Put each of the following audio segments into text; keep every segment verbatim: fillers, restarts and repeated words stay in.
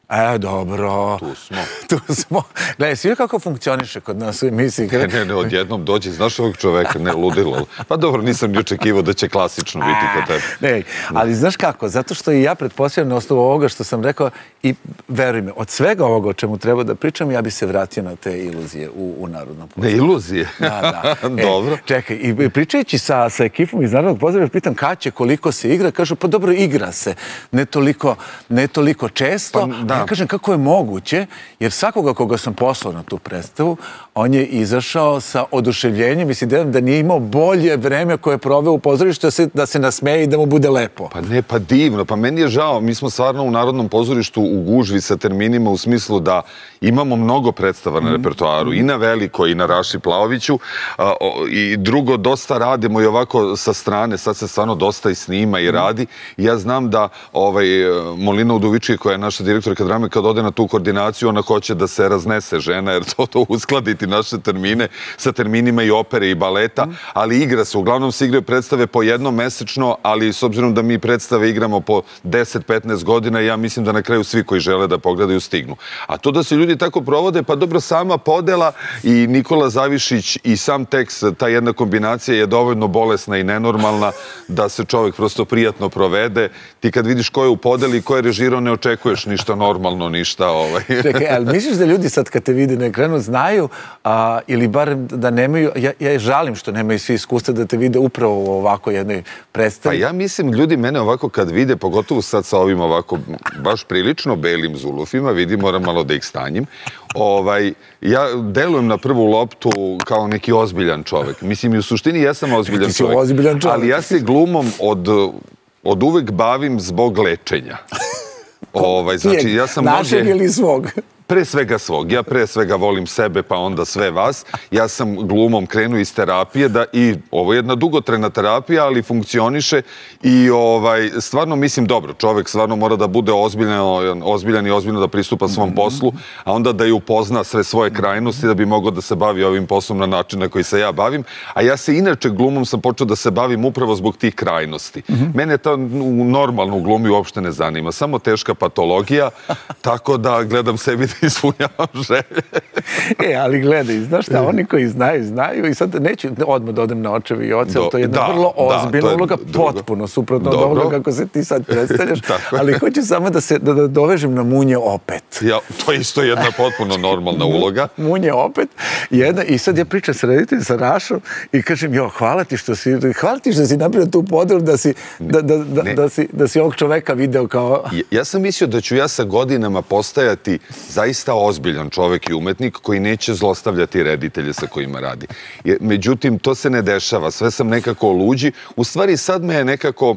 E, dobro. Tu smo. Tu smo. Gledaj, svi kako funkcioniše kod nas u emisiji. Ne, ne, ne, odjednom dođe, znaš ovog čoveka, ne, ludilo. Pa dobro, nisam ni očekivao da će klasično biti kod tebe. Ne, ali znaš kako, zato što i ja pretpostavljam na osnovu ovoga što sam rekao i veruj me, od svega ovoga o čemu treba da pričam, ja bi se vratio na te iluzije u, u Narodnom pozorištu. Ne, iluzije? Da, da. Dobro. E, čekaj, i pričajući sa, sa ekipom iz Narodnog pozorišta, pitam kad će, koliko se igra, kažu, pa dobro, igra se. Ne toliko, ne toliko često. Pa, da. Ja kažem kako je moguće, jer svakoga koga sam poslao na tu predstavu, on je izašao sa oduševljenjem i s idejom da nije imao bolje vreme koje je proveo u pozorištu, da se, da se nasmeje i da mu bude lepo. Pa ne, pa divno. Pa meni je žao. Mi smo stvarno u Narodnom pozorištu u gužvi sa terminima u smislu da imamo mnogo predstava na repertoaru. I na Veliko, i na Raši Plaoviću. A, o, I drugo, dosta radimo i ovako sa strane. Sad se stvarno dosta i snima i radi. I ja znam da ovaj, Molina Udovički, koja je naša direktorka drame, kad ode na tu koordinaciju, ona hoće da se raznese žena, jer to, to uskladiti naše termine sa terminima i opere i baleta, ali igra se. Uglavnom se igraju predstave po jednom mesečno, ali s obzirom da mi predstave igramo po deset do petnaest godina, ja mislim da na kraju svi koji žele da pogledaju stignu. A to da se ljudi tako provode, pa dobro, sama podela i Nikola Zavišić i sam tekst, ta jedna kombinacija je dovoljno bolesna i nenormalna da se čovjek prosto prijatno provede. Ti kad vidiš ko je u podeli i ko je režirao, ne očekuješ ništa normalno, ništa ovaj. Čekaj, ali misliš da ljudi sad kad te vide na ekranu znaju, a, ili barem da nemaju, ja, ja žalim što nemaju svi iskustva da te vide upravo u ovako jednoj predstavi? Pa ja mislim, ljudi mene ovako kad vide, pogotovo sad sa ovim ovako baš prilično belim zulufima, vidi, moram malo da ih stanjim, ovaj, ja delujem na prvu loptu kao neki ozbiljan čovek. Mislim, i u suštini ja sam ozbiljan Ti si čovek, ozbiljan čovek. ali ja se glumom od, od uvek bavim zbog lečenja. Ovaj, znači, ja sam našeg ovdje... ili svog? Pre svega svog. Ja pre svega volim sebe, pa onda sve vas. Ja sam glumom krenuo iz terapije da i ovo je jedna dugotrajna terapija, ali funkcioniše i ovaj, stvarno mislim dobro. Čovek stvarno mora da bude ozbiljan, ozbiljan i ozbiljno da pristupa svom poslu, a onda da je upozna sve svoje krajnosti da bi mogao da se bavi ovim poslom na način na koji se ja bavim. A ja se inače glumom sam počeo da se bavim upravo zbog tih krajnosti. Mene to u normalnu glumi uopšte ne zanima. Samo teška patologija, tako da gledam sebi da ispunjavam želje. E, ali gledaj, znaš šta, oni koji znaju, znaju i sad neću odmah da odem na očevi i oce, to je jedna vrlo ozbiljna uloga, potpuno suprotno od ovoga kako se ti sad predstavljaš, ali hoću samo da se da dovežem na Munje opet. Ja, to je isto jedna potpuno normalna uloga. Munje opet, jedna, i sad ja pričam sa rediteljem, sa Rašom i kažem, jo, hvala ti što si, hvala ti što si napravio tu podelu da si, da, da, da, da, si, da si ovog čoveka video kao... Ja, ja sam mislio da ću ja sa godinama postajati zaista ozbiljan čovek i umetnik koji neće zlostavljati reditelje sa kojima radi. Međutim, to se ne dešava. Sve sam nekako luđi. U stvari, sad me je nekako,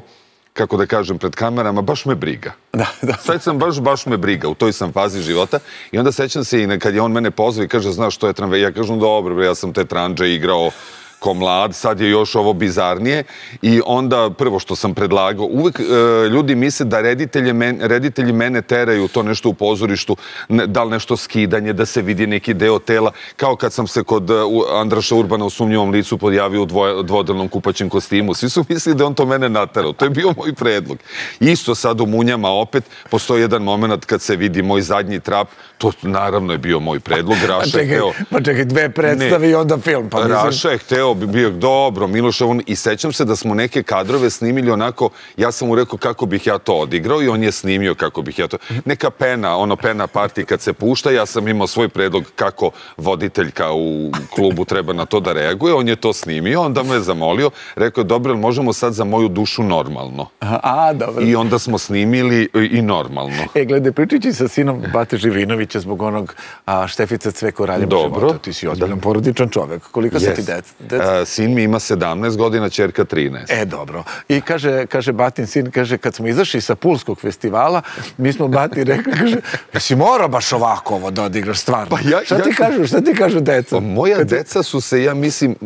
kako da kažem, pred kamerama, baš me briga. Da, da. Sad sam baš, baš me briga. U toj sam fazi života. I onda sećam se i kad je on mene pozvao i kaže, znaš što je tramvaj? Ja kažem, dobro, ja sam te tranđe igrao ko mlad, sad je još ovo bizarnije i onda prvo što sam predlagao, uvek e, ljudi misle da reditelji, men, reditelji mene teraju to nešto u pozorištu, ne, da li nešto skidanje, da se vidi neki deo tela, kao kad sam se kod uh, Andraša Urbana u Sumnjivom licu podjavio u dvoje, dvodelnom kupaćem kostimu. Svi su mislili da on to mene naterao. To je bio moj predlog. Isto sad u Munjama opet postoji jedan moment kad se vidi moj zadnji trap, to naravno je bio moj predlog. Raša pa, čekaj, hteo, pa čekaj, dve predstave ne, i onda film. Pa Raša je hteo bi bio dobro, Miloš, on, i sećam se da smo neke kadrove snimili onako, ja sam mu rekao kako bih ja to odigrao i on je snimio kako bih ja to... Neka pena, ono pena party kad se pušta, ja sam imao svoj predlog kako voditeljka u klubu treba na to da reaguje, on je to snimio, onda me je zamolio, rekao je, dobro, možemo sad za moju dušu normalno. A, dobro. I onda smo snimili i normalno. E, gledaj, pričajući sa sinom Bate Živinovića zbog onog a, Štefica Cveko Raljeva života, ti si ozbiljan porodičan čovek. Koliko su ti deca? Sin mi ima sedamnaest godina, ćerka trinaest. E, dobro. I kaže, kaže Batin sin, kaže, kad smo izašli sa Pulskog festivala, mi smo Bati rekli, kaže, jesi morao baš ovako ovo da odigraš stvarno? Pa ja, šta ti ja, kažu, šta ti kažu deca? Pa moja kad... deca su se, ja mislim,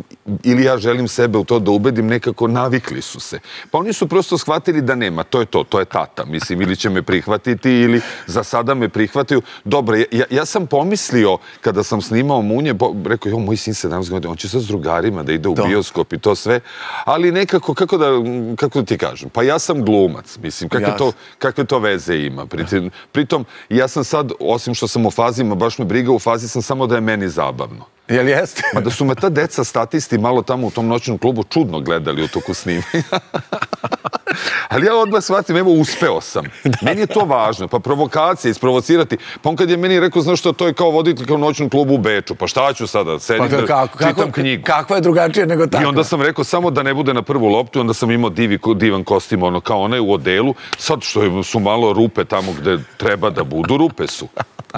ili ja želim sebe u to da ubedim, nekako navikli su se. Pa oni su prosto shvatili da nema, to je to, to je tata, mislim, ili će me prihvatiti, ili za sada me prihvataju. Dobro, ja, ja sam pomislio, kada sam snimao Munje, rekao, jo, moj sin sedamnaest godina, on će sad s drugarima filmovima, da ide u bioskop i to sve, ali nekako, kako da, kako da ti kažem, pa ja sam glumac, mislim, kakve to, kakve to veze ima. Pritom, pritom, ja sam sad, osim što sam u fazima, baš me briga, u fazi sam samo da je meni zabavno. Jel jeste? Ma da su me ta deca statisti malo tamo u tom noćnom klubu čudno gledali u toku snimanja. Ali ja odmah shvatim, evo, uspeo sam. Meni je to važno, pa provokacija, isprovocirati. Pa on kad je meni rekao, znaš što, to je kao voditelj kao u noćnom klubu u Beču, pa šta ću sada, sedim da čitam knjigu. Kakva je drugačije nego tako? I onda sam rekao, samo da ne bude na prvu loptu, onda sam imao divan kostim, ono, kao onaj u odelu. Sad što su malo rupe tamo gde treba da budu, rupe su.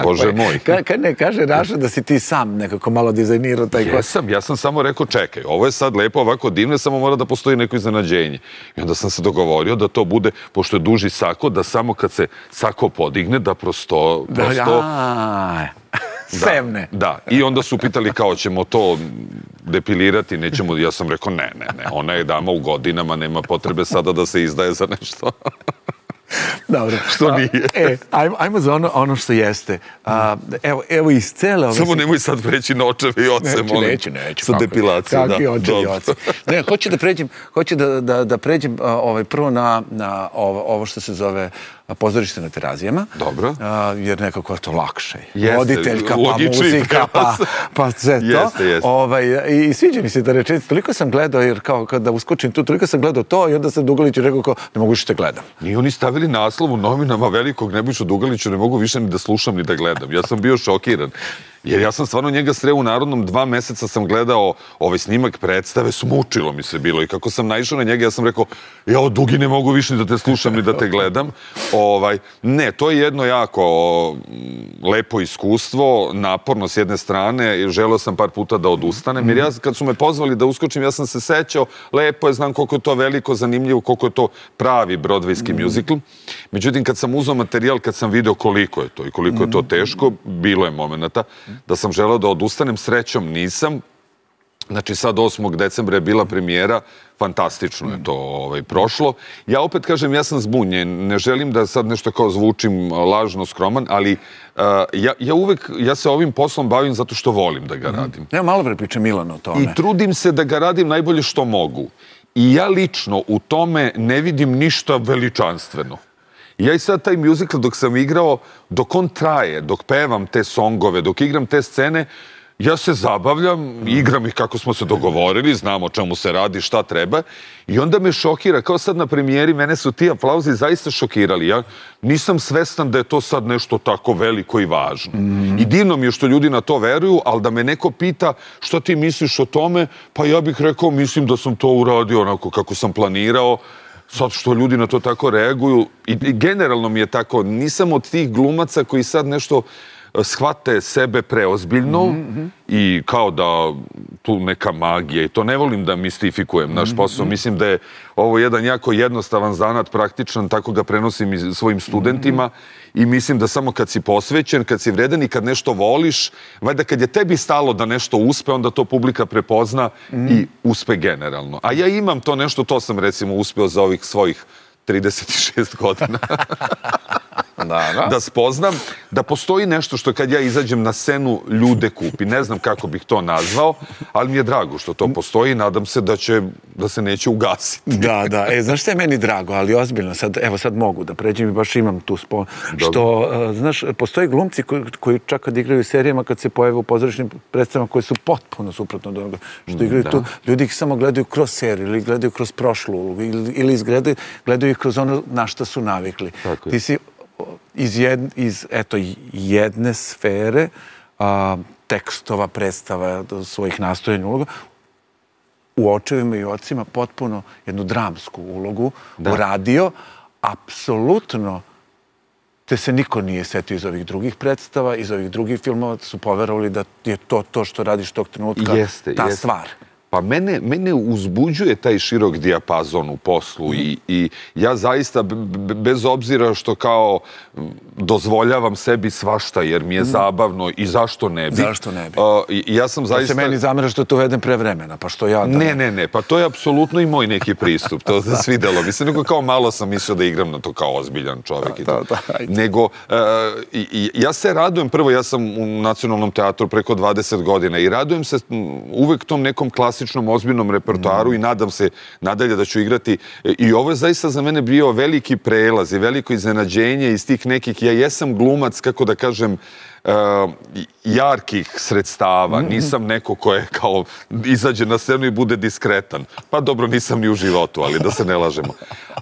Bože moj. Kad ne kaže Raša da si ti sam nekako malo dizajnirao taj kostim? Jesam, ja sam samo rekao, čekaj, ovo je sad lepo, ovako divno, samo mora da postoji neko iznenađenje. I onda sam se dogovorio da to bude, pošto je duži sako, da samo kad se sako podigne, da prosto... Sevne. Da, i onda su pitali kao ćemo to depilirati, nećemo, ja sam rekao ne, ne, ne, ona je dama u godinama, nema potrebe sada da se izdaje za nešto. Dobro. Što nije. E, ajmo za ono što jeste. Evo iz cele ove... Samo nemoj sad preći na očeve i oce, molim. Neću, neću. Sa depilacijom, da. Kakvi očevi i oce. Ne, hoću da pređem, hoću da pređem prvo na ovo što se zove pozorište na Terazijama. Dobro. Jer nekako je to lakše. Jeste, voditeljka, pa muzika, pa sve to. Jeste, jeste. I sviđa mi se da rečenicu, toliko sam gledao, jer kao kada uskočim tu, toliko sam gledao to i onda sam Dugalić rekao kao, ne mogu više te gledam. Nije oni stavili naslov u novinama velikog Nebojšu Dugalića, ne mogu više ni da slušam ni da gledam. Ja sam bio šokiran. Jer ja sam stvarno njega sreo u Narodnom, dva meseca sam gledao ovaj snimak predstave, smučilo mi se bilo i kako sam naišao na njega, ja sam rekao, jao, Dugi, ne mogu više ni da te slušam ni da te gledam. Ne, to je jedno jako lepo iskustvo, naporno s jedne strane, želeo sam par puta da odustanem, jer ja kad su me pozvali da uskočim, ja sam se sećao, lepo je, znam koliko je to veliko, zanimljivo, koliko je to pravi brodvejski mjuzikl. Međutim, kad sam uzao materijal, kad sam video koliko je to i koliko je to teško, bilo je momenata da sam želeo da odustanem, srećom nisam. Znači sad osmog decembra je bila premijera, fantastično je to prošlo. Ja opet kažem, ja sam zbunjen, ne želim da sad nešto kao zvučim lažno skroman, ali ja uvek, ja se ovim poslom bavim zato što volim da ga radim. Ja malo pre pričam Milano o tome. I trudim se da ga radim najbolje što mogu. I ja lično u tome ne vidim ništa veličanstveno. Ja i sad taj mjuzikl dok sam igrao, dok on traje, dok pevam te songove, dok igram te scene, ja se zabavljam, igram ih kako smo se dogovorili, znam o čemu se radi, šta treba. I onda me šokira, kao sad na premijeri, mene su ti aplauzi zaista šokirali. Ja nisam svestan da je to sad nešto tako veliko i važno. I divno mi je što ljudi na to veruju, ali da me neko pita što ti misliš o tome, pa ja bih rekao, mislim da sam to uradio onako kako sam planirao. Sad što ljudi na to tako reaguju, i generalno mi je tako, nisam od tih glumaca koji sad nešto shvate sebe preozbiljno i kao da tu neka magija i to ne volim da mistifikujem naš posao. Mislim da je ovo jedan jako jednostavan zanat, praktičan, tako ga prenosim i svojim studentima i mislim da samo kad si posvećen, kad si vredan i kad nešto voliš, valjda kad je tebi stalo da nešto uspe, onda to publika prepozna i uspe generalno. A ja imam to nešto, to sam recimo uspeo za ovih svojih trideset šest godina. Da spoznam da postoji nešto što kad ja izađem na scenu ljude kupi. Ne znam kako bih to nazvao, ali mi je drago što to postoji i nadam se da će, da se neće ugasiti. Da, da. E, znaš što je meni drago, ali ozbiljno, sad, evo sad mogu da pređem i baš imam tu spon... Što, znaš, postoji glumci koji, koji čak kad igraju u serijama, kad se pojave u pozorišnim predstavama koje su potpuno suprotno od onoga što igraju tu, ljudi ih samo gledaju kroz seriju ili gledaju kroz prošlu ulogu ili izgledaju, gledaju ih kroz ono na što su navikli. Ti si iz jedne sfere tekstova, predstava, svojih nastojanja uloga, u Očevima i ocima potpuno jednu dramsku ulogu uradio. Apsolutno te se niko nije setio iz ovih drugih predstava, iz ovih drugih filmova, su poverovali da je to to što radiš tog trenutka, ta stvar. Pa mene uzbuđuje taj širok dijapazon u poslu i ja zaista, bez obzira što kao dozvoljavam sebi svašta jer mi je zabavno i zašto ne bi. Zašto ne bi? Ja sam zaista... Da se meni zamera što to uvedem pre vremena, pa što ja... Ne, ne, ne, pa to je apsolutno i moj neki pristup, to se svidelo. Mislim, nego kao malo sam mislio da igram na to kao ozbiljan čovjek i to. Nego, ja se radujem, prvo ja sam u Nacionalnom teatru preko dvadeset godina i radujem se uvek tom nekom klasičnom klasičnom, ozbiljnom repertoaru i nadam se nadalje da ću igrati. I ovo je zaista za mene bio veliki prelaz i veliko iznenađenje iz tih nekih, ja jesam glumac, kako da kažem, jarkih sredstava. Nisam neko ko je kao izađe na scenu i bude diskretan. Pa dobro, nisam ni u životu, ali da se ne lažemo.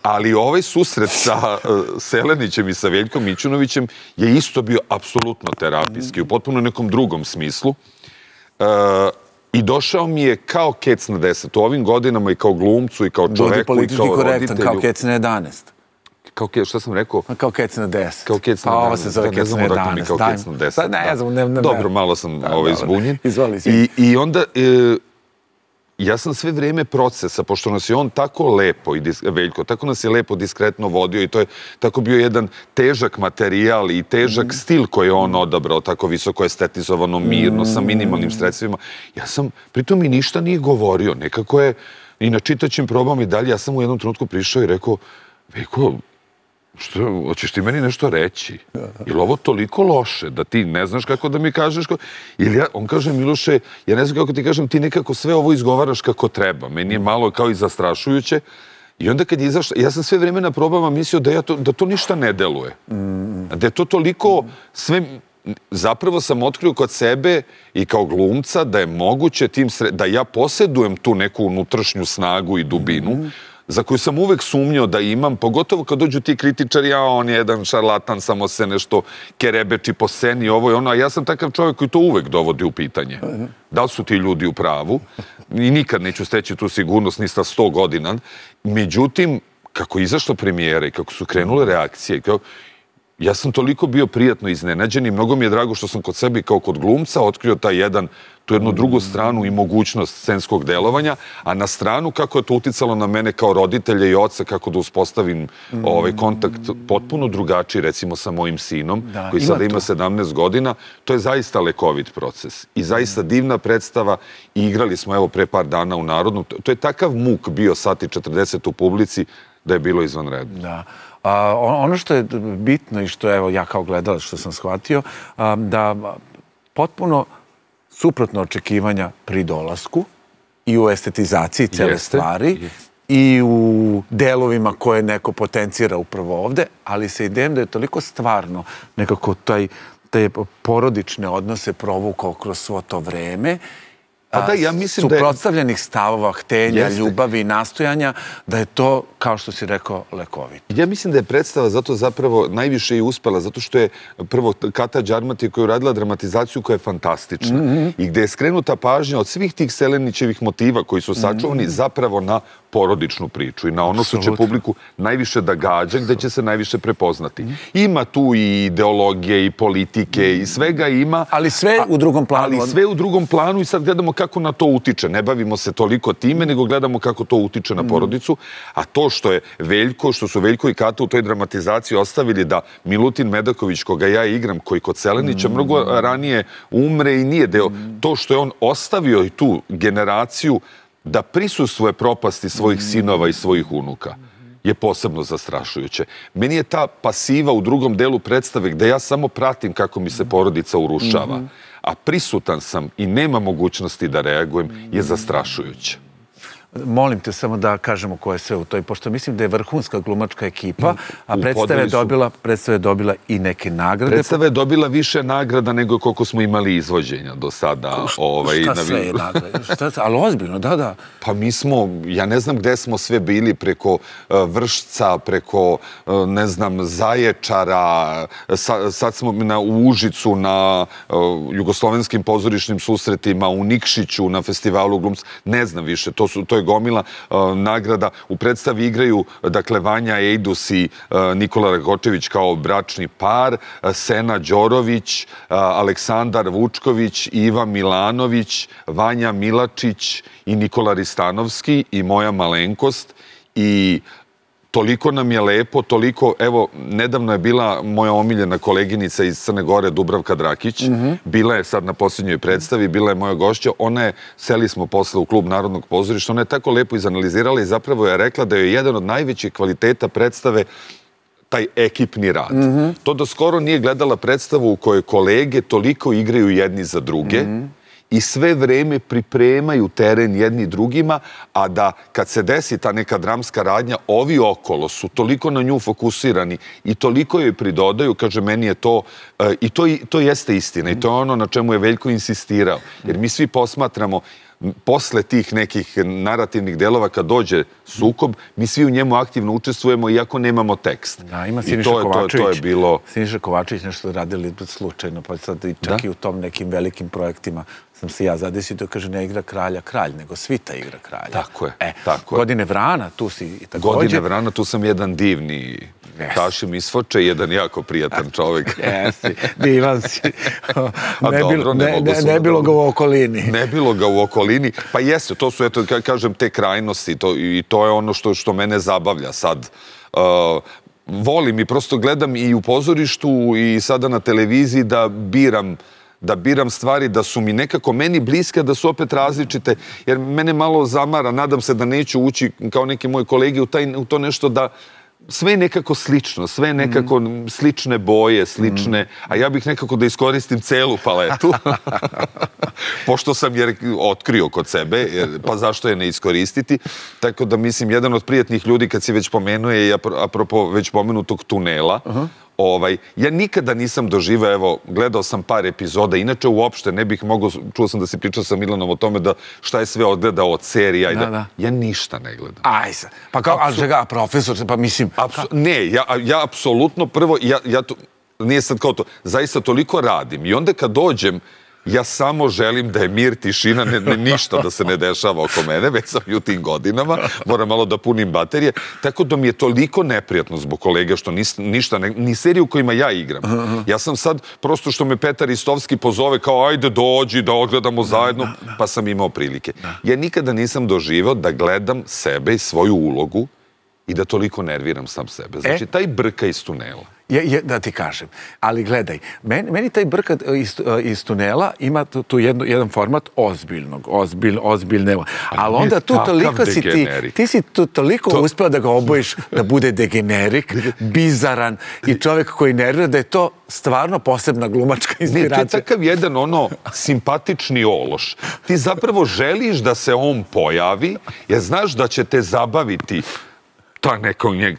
Ali ovaj susret sa Selenićem i sa Veljkom Mićunovićem je isto bio apsolutno terapijski, u potpuno nekom drugom smislu. I došao mi je kao kec na deset. U ovim godinama i kao glumcu i kao čoveku i kao roditelju. Budi politički korektan, kao kec na jedanaest. Kao kec, šta sam rekao? Kao kec na deset. Kao kec na deset. Pa ovo se zove kec na jedanaest. Kao kec na deset. Ne znam, ne, ne. Dobro, malo sam zbunjen. Izvoli. I onda, ja sam sve vrijeme procesa, pošto nas je on tako lepo, Veljko, tako nas je lepo diskretno vodio i to je tako bio jedan težak materijal i težak stil koji je on odabrao, tako visoko estetizovano, mirno, sa minimalnim sredstvima. Ja sam, pritom mi ništa nije govorio, nekako je, i na čitaćim probama i dalje, ja sam u jednom trenutku prišao i rekao, Veljko, što, hoćeš ti meni nešto reći? Je li ovo toliko loše da ti ne znaš kako da mi kažeš? Ili ja, on kaže, Miloše, ja ne znam kako ti kažem, ti nekako sve ovo izgovaraš kako treba. Meni je malo kao i zastrašujuće. I onda kad je izašla, ja sam sve vrijeme na probama mislio da, ja to, da to ništa ne deluje. Da je to toliko sve... Zapravo sam otkrio kod sebe i kao glumca da je moguće tim sre... da ja posjedujem tu neku unutrašnju snagu i dubinu, za koju sam uvek sumnjao da imam, pogotovo kad dođu ti kritičari, a on je jedan šarlatan, samo se nešto kerebeči po sceni, ovo i ono, a ja sam takav čovjek koji to uvek dovodi u pitanje. Da li su ti ljudi u pravu? I nikad neću steći tu sigurnost, ni sa sto godina. Međutim, kako je izašla premijera i kako su krenule reakcije, ja sam toliko bio prijatno iznenađen i mnogo mi je drago što sam kod sebe kao kod glumca otkrio taj jedan, tu jednu drugu stranu i mogućnost scenskog delovanja, a na stranu kako je to uticalo na mene kao roditelja i oca, kako da uspostavim ovaj kontakt potpuno drugačiji, recimo sa mojim sinom, koji sada ima sedamnaest godina, to je zaista lekovit proces i zaista divna predstava i igrali smo evo pre par dana u Narodnom. To je takav muk bio sat i četrdeset u publici da je bilo izvanredno. Da. Ono što je bitno i što evo ja kao gledalac što sam shvatio, da potpuno suprotno očekivanja pri dolasku i u estetizaciji cele stvari i u delovima koje neko potencira upravo ovde, ali sa idejom da je toliko stvarno nekako taj, te porodične odnose provukao kroz svo to vreme, suprotstavljenih stavova, htenja, ljubavi i nastojanja, da je to, kao što si rekao, lekovit. Ja mislim da je predstava zato zapravo najviše i uspela, zato što je prvo Kata Đarmati koja je uradila dramatizaciju koja je fantastična i gde je skrenuta pažnja od svih tih Selenićevih motiva koji su sačuvani zapravo na porodičnu priču i na ono što će publiku najviše da gađa, gde će se najviše prepoznati. Ima tu i ideologije i politike i svega ima. Ali sve u drugom planu. Ali sve u drugom planu i sad gledamo kako na to utiče. Ne bavimo se toliko time, nego gledamo kako to utiče na porodicu. A to što je Veljko, što su Veljko i Kata u toj dramatizaciji ostavili da Milutin Medaković, koga ja igram, koji kod Selenića mnogo ranije umre i nije deo, to što je on ostavio i tu generaciju da prisustvuje propasti svojih sinova i svojih unuka je posebno zastrašujuće. Meni je ta pasiva u drugom delu predstave gde ja samo pratim kako mi se porodica urušava, a prisutan sam i nema mogućnosti da reagujem, je zastrašujuće. Molim te samo da kažemo ko je sve u toj, pošto mislim da je vrhunska glumačka ekipa, a predstava je dobila i neke nagrade. Predstava je dobila više nagrada nego koliko smo imali izvođenja do sada. Šta sve je nagrade? Ali ozbiljno, da, da. Pa mi smo, ja ne znam gde smo sve bili, preko Vršca, preko, ne znam, Zaječara, sad smo u Užicu, na jugoslovenskim pozorišnim susretima, u Nikšiću, na festivalu glumca, ne znam više, to su, to je gomila nagrada. U predstavi igraju, dakle, Vanja Ejdus i Nikola Rakočević kao bračni par, Sena Đorović, Aleksandar Vučković, Iva Milanović, Vanja Milačić i Nikola Ristanovski i moja malenkost. I toliko nam je lepo, toliko, evo, nedavno je bila moja omiljena koleginica iz Crne Gore, Dubravka Drakić, bila je sad na posljednjoj predstavi, bila je moja gošća, ona je, seli smo posle u klub Narodnog pozorišta, ona je tako lepo izanalizirala i zapravo je rekla da je jedan od najvećih kvaliteta predstave taj ekipni rad. To da skoro nije gledala predstavu u kojoj kolege toliko igraju jedni za druge i sve vreme pripremaju teren jedni drugima, a da kad se desi ta neka dramska radnja, ovi okolo su toliko na nju fokusirani i toliko joj pridodaju, kaže, meni je to, i to, to jeste istina i to je ono na čemu je Veljko insistirao. Jer mi svi posmatramo posle tih nekih narativnih delova, kad dođe sukob, mi svi u njemu aktivno učestvujemo iako nemamo tekst. Da, ima Siniša Kovačević. Siniša Kovačević nešto radili slučajno, pa sad čak i u tom nekim velikim projektima sam se ja zadesio, to kaže, ne igra kralja kralj, nego svita igra kralja. Tako je. Godine Vrana, tu si također. Godine Vrana, tu sam jedan divni Tašim Isfoče, jedan jako prijatan čovjek. Jesi, divan si. Ne bilo ga u okolini. Ne bilo ga u okolini. Pa jesu, to su, eto, kažem, te krajnosti i to je ono što mene zabavlja sad. Volim i prosto gledam i u pozorištu i sada na televiziji da biram da biram stvari, da su mi nekako meni bliske, da su opet različite, jer mene malo zamara, nadam se da neću ući kao neki moji kolegi u to nešto da sve je nekako slično, sve je nekako slične boje, slične, a ja bih nekako da iskoristim celu paletu, pošto sam jer otkrio kod sebe, pa zašto je ne iskoristiti, tako da mislim, jedan od prijatnih ljudi, kad si već pomenuo je, apropo već pomenutog tunela, ja nikada nisam doživao, evo, gledao sam par epizoda, inače uopšte ne bih mogao, čuo sam da si pričao sa Milanom o tome da šta je sve odgledao od serija, ja ništa ne gledam. Aj sad, pa kao, ali čega, profesor, pa mislim... Ne, ja apsolutno prvo, ja to, nije sad kao to, zaista toliko radim i onda kad dođem, ja samo želim da je mir, tišina, ništa da se ne dešava oko mene, već sam i u tim godinama, moram malo da punim baterije, tako da mi je toliko neprijatno zbog kolega što ništa, ni seriju kojima ja igram. Ja sam sad, prosto što me Petar Istovski pozove kao ajde dođi da ogledamo zajedno, pa sam imao prilike. Ja nikada nisam doživao da gledam sebe i svoju ulogu i da toliko nerviram sam sebe. Znači, taj brka iz tunela. Da ti kažem, ali gledaj, meni taj brkat iz tunela ima tu jedan format ozbiljnog, ozbiljne, ali onda tu toliko si ti, ti si tu toliko uspeo da ga obojiš da bude degenerik, bizaran i čovjek koji nervira, da je to stvarno posebna glumačka inspiracija. Ne, to je takav jedan ono simpatični ološ. Ti zapravo želiš da se on pojavi, jer znaš da će te zabaviti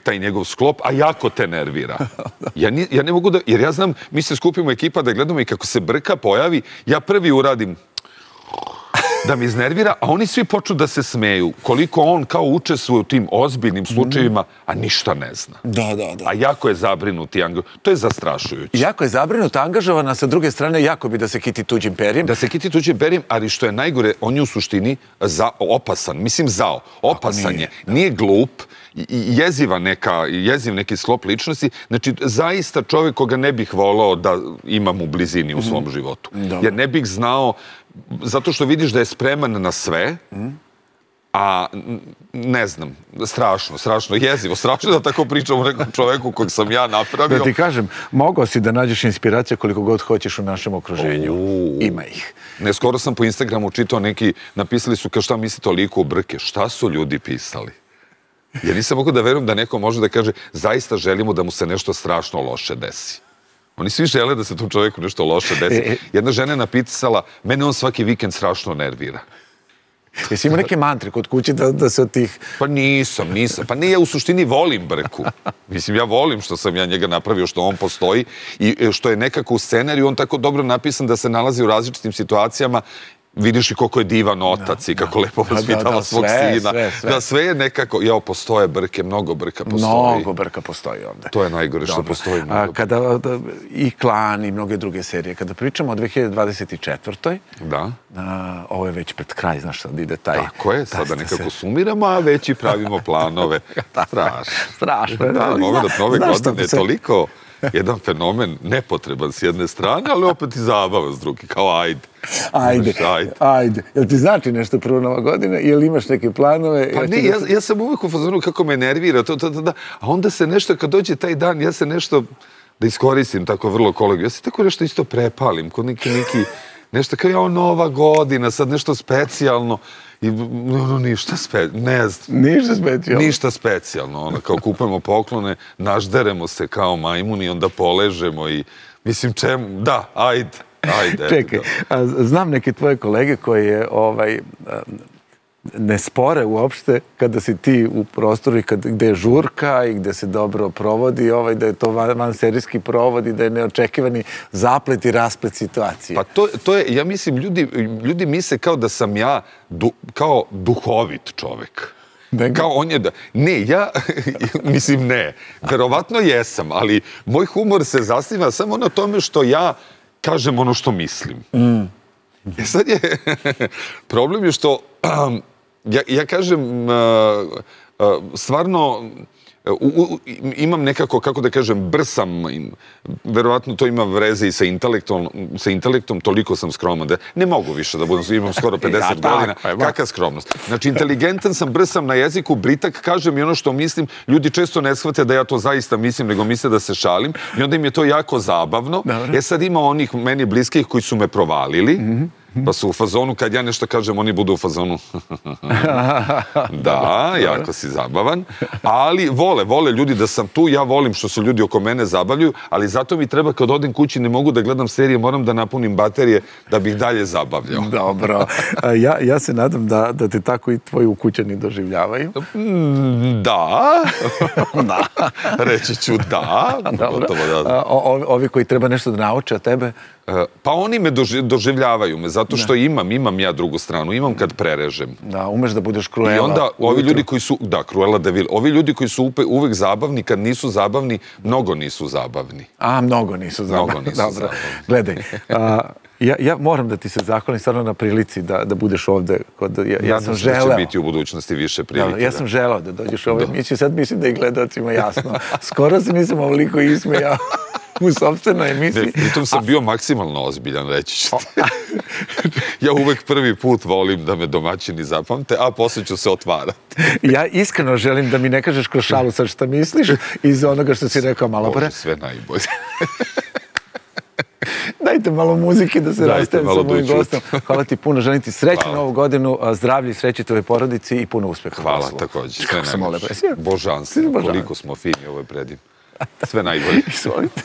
taj njegov sklop, a jako te nervira. Ja ne mogu da, jer ja znam, mi se skupimo ekipa da gledamo i kako se brka pojavi, ja prvi uradim da mi iznervira, a oni svi počnu da se smeju. Koliko on kao učestvuje u tim ozbiljnim slučajevima, a ništa ne zna. Da, da, da. A jako je zabrinut i angažovan. To je zastrašujuće. Jako je zabrinut, angažovan, a sa druge strane jako bi da se kiti tuđim perjem. Da se kiti tuđim perjem, ali što je najgore, on je u suštini opasan. Mislim, zao. Opasan je. Nije glup, jeziva neka, jeziv neki sklop ličnosti. Znači, zaista čovjek koga ne bih volao da imam u blizini u svom životu. Jer ne bih znao, zato što vidiš da je spreman na sve, a ne znam, strašno, strašno jezivo, strašno da tako pričam o nekom čoveku kojeg sam ja napravio. Da ti kažem, mogao si da nađeš inspiracije koliko god hoćeš u našem okruženju. Ima ih. Ne, skoro sam po Instagramu čitao neki, napisali su kao šta mislite o liku Brke. Šta su ljudi pisali? Ja nisam mogu da verujem da neko može da kaže zaista želimo da mu se nešto strašno loše desi. Oni svi žele da se tom čoveku nešto loše desi. Jedna žena je napisala, mene on svaki vikend strašno nervira. Jesi imao neke mantre kod kuće da se od tih... Pa nisam, nisam. Pa ne, ja u suštini volim Brku. Mislim, ja volim što sam ja njega napravio, što on postoji i što je nekako u scenariju on tako dobro napisan da se nalazi u različitim situacijama. Vidiš i koliko je divan otac i kako lepo vaspitava svog sina. Da, sve je nekako, jao, postoje Brke, mnogo Brka postoji. Mnogo Brka postoji ovde. To je najgore što postoji mnogo. I Klan i mnoge druge serije. Kada pričamo o dve hiljade dvadeset četvrtoj. Da. Ovo je već pred kraj, znaš sad ide taj... Tako je, sada nekako sumiramo, a već i pravimo planove. Strašno. Strašno. Da, nove godine je toliko jedan fenomen nepotreban s jedne strane, ali opet i zabavan s druge, kao ajde. Ajde, ajde. Jel ti znači nešto prvo Nova godina? Jel imaš neke planove? Pa ne, ja sam uvijek u fazonu kako me nervira, a onda se nešto, kad dođe taj dan, ja se nešto, da iskoristim tako vrlo kolegu, ja se tako nešto isto prepalim, kod neki neki, nešto kao ja Nova godina, sad nešto specijalno, i ništa specijalno, ne znam. Ništa specijalno? Ništa specijalno, ono, kao kupujemo poklone, našderemo se kao majmuni, onda poležemo i, mislim, čemu, da, ajde. Ajde. Čekaj, znam neke tvoje kolege koje ovaj, ne spore uopšte kada si ti u prostoru i gde je žurka i gde se dobro provodi, ovaj, da je to vanserijski provod i da je neočekivani zaplet i rasplet situacije. Pa to, to je, ja mislim, ljudi, ljudi misle kao da sam ja du, kao duhovit čovek. Kao on je da... Ne, ja, mislim ne, verovatno jesam, ali moj humor se zasniva samo na tome što ja kažem ono što mislim. Mm. E sad je, problem je što, um, ja, ja kažem, uh, uh, stvarno, U, u, imam nekako, kako da kažem, brsam, verovatno to ima vreze i sa intelektom, sa intelektom, toliko sam skroman da ne mogu više da budem, imam skoro pedeset godina, kakva skromnost. Znači, inteligentan sam, brsam na jeziku, britak, kažem i ono što mislim, ljudi često ne shvate da ja to zaista mislim, nego misle da se šalim i onda im je to jako zabavno. E sad ima onih meni bliskih koji su me provalili, pa su u fazonu, kad ja nešto kažem, oni budu u fazonu. Da, jako si zabavan. Ali vole, vole ljudi da sam tu, ja volim što se ljudi oko mene zabavljaju, ali zato mi treba kad odem kući, ne mogu da gledam serije, moram da napunim baterije da bih dalje zabavljao. Dobro. Ja, ja se nadam da, da te tako i tvoji ukućani doživljavaju. Da. Da. Reći ću da. Dobro. Da. O, ovi koji treba nešto da nauče od tebe? Pa oni me doživljavaju me, zato što imam, imam ja drugu stranu, imam kad prerežem. Da, umeš da budeš Cruella. I onda ovi ljudi koji su, da, Cruella de Vil, ovi ljudi koji su uvek zabavni, kad nisu zabavni, mnogo nisu zabavni. A, mnogo nisu zabavni. Mnogo nisu Dobro. zabavni. Gledaj, a, ja, ja moram da ti se zahvalim stvarno na prilici da, da budeš ovde. Kod, ja, ja sam želeo. Nadam se da će biti u budućnosti više prilike. Da, ja sam želeo da dođeš u ovoj emisiju, sad mislim da je gledalcima jasno. Skoro se nisam ovoliko ismejao u sopstvenoj emisiji. Pritom sam bio maksimalno ozbiljan, reći ću ti. Ja uvek prvi put volim da me domaćini zapamte, a posle ću se otvarati. Ja iskreno želim da mi ne kažeš kroz šalu sad šta misliš iz onoga što si rekao malo pre. Bože, sve najbolje. Dajte malo muzike da se rastavim sa mojim gostom. Hvala ti puno, želim ti srećnu novu godinu, zdravlje i sreće tvojoj porodici i puno uspeha. Hvala, također. Sve najbolje. Božanstvo, koliko smo fini, ovo je predim. Sve najbolje. Izvolite.